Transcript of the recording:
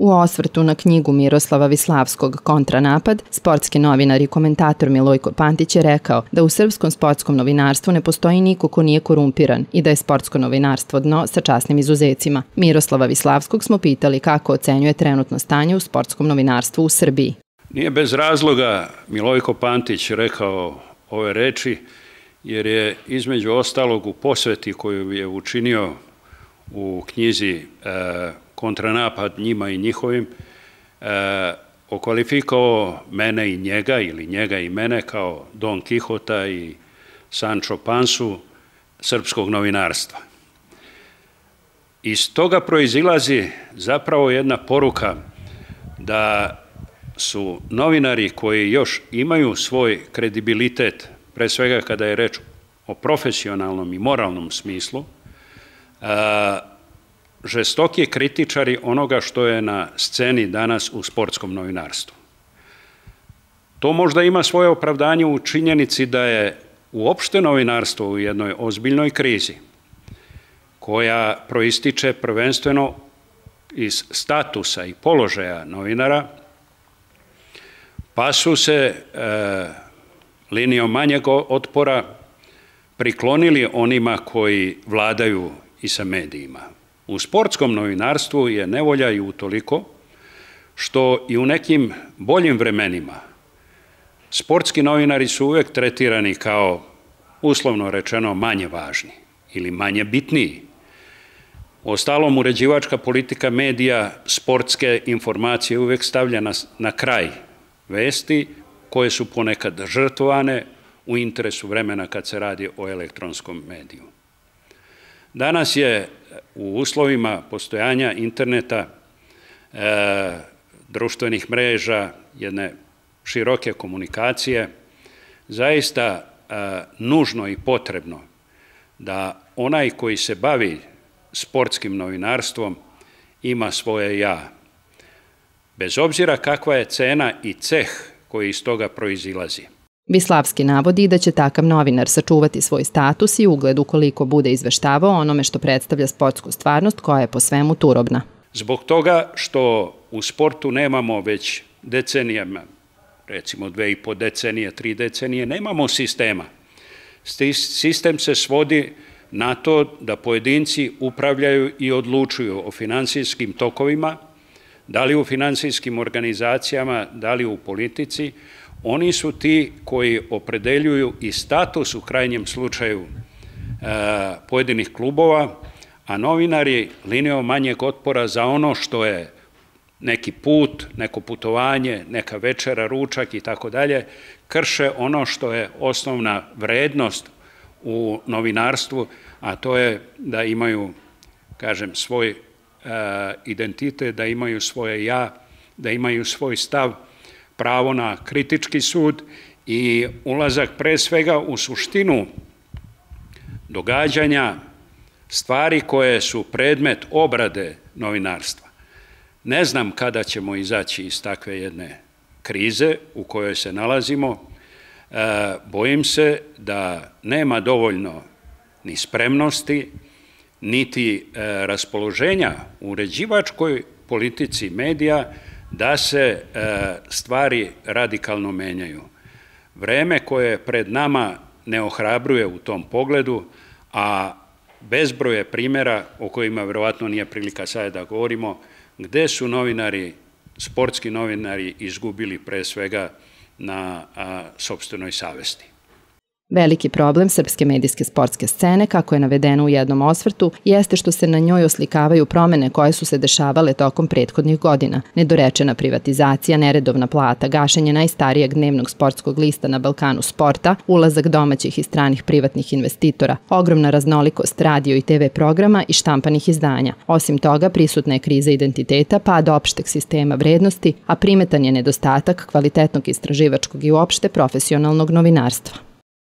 U osvrtu na knjigu Miroslava Vislavskog Kontranapad, sportski novinar i komentator Milojko Pantić je rekao da u srpskom sportskom novinarstvu ne postoji niko ko nije korumpiran i da je sportsko novinarstvo dno sa časnim izuzecima. Miroslava Vislavskog smo pitali kako ocenjuje trenutno stanje u sportskom novinarstvu u Srbiji. Nije bez razloga Milojko Pantić rekao ove reči, jer je između ostalog u posveti koju je učinio u knjizi Kontranapad njima i njihovim, okvalifikovao mene i njega ili njega i mene kao Don Kihota i Sancho Pansu srpskog novinarstva. Iz toga proizilazi zapravo jedna poruka da su novinari koji još imaju svoj kredibilitet, pre svega kada je reč o profesionalnom i moralnom smislu, žestoki kritičari onoga što je na sceni danas u sportskom novinarstvu. To možda ima svoje opravdanje u činjenici da je uopšte novinarstvo u jednoj ozbiljnoj krizi, koja proističe prvenstveno iz statusa i položaja novinara, pa su se linijom manjeg otpora priklonili onima koji vladaju i sa medijima. U sportskom novinarstvu je nevolja i utoliko što i u nekim boljim vremenima sportski novinari su uvek tretirani kao, uslovno rečeno, manje važni ili manje bitniji. Ostalom, uređivačka politika medija sportske informacije uvek stavlja na kraj vesti koje su ponekad žrtvovane u interesu vremena kad se radi o elektronskom mediju. Danas je u uslovima postojanja interneta, društvenih mreža, jedne široke komunikacije, zaista nužno i potrebno da onaj koji se bavi sportskim novinarstvom ima svoje ja. Bez obzira kakva je cena i ceh koji iz toga proizilazi. Vislavski navodi da će takav novinar sačuvati svoj status i ugled ukoliko bude izveštavao onome što predstavlja sportsku stvarnost koja je po svemu turobna. Zbog toga što u sportu nemamo već decenijama, recimo 2,5 decenije, 3 decenije, nemamo sistema. Sistem se svodi na to da pojedinci upravljaju i odlučuju o finansijskim tokovima, da li u finansijskim organizacijama, da li u politici. Oni su ti koji opredeljuju i status u krajnjem slučaju pojedinih klubova, a novinari linijom manjeg otpora za ono što je neki put, neko putovanje, neka večera, ručak i tako dalje, krše ono što je osnovna vrednost u novinarstvu, a to je da imaju, kažem, svoj identitet, da imaju svoje ja, da imaju svoj stav, pravo na kritički sud i ulazak pre svega u suštinu događanja, stvari koje su predmet obrade novinarstva. Ne znam kada ćemo izaći iz takve jedne krize u kojoj se nalazimo. Bojim se da nema dovoljno ni spremnosti, niti raspoloženja u uređivačkoj politici medija da se stvari radikalno menjaju. Vreme koje pred nama ne ohrabruje u tom pogledu, a bezbroj je primjera o kojima verovatno nije prilika sada da govorimo, gde su novinari, sportski novinari izgubili pre svega na sopstvenoj savesti. Veliki problem srpske medijske sportske scene, kako je navedeno u jednom osvrtu, jeste što se na njoj oslikavaju promene koje su se dešavale tokom prethodnih godina. Nedorečena privatizacija, neredovna plata, gašenje najstarijeg dnevnog sportskog lista na Balkanu Sporta, ulazak domaćih i stranih privatnih investitora, ogromna raznolikost radio i TV programa i štampanih izdanja. Osim toga, prisutna je kriza identiteta, pad opšteg sistema vrednosti, a primetan je nedostatak kvalitetnog istraživačkog i uopšte profesionalnog novinarstva.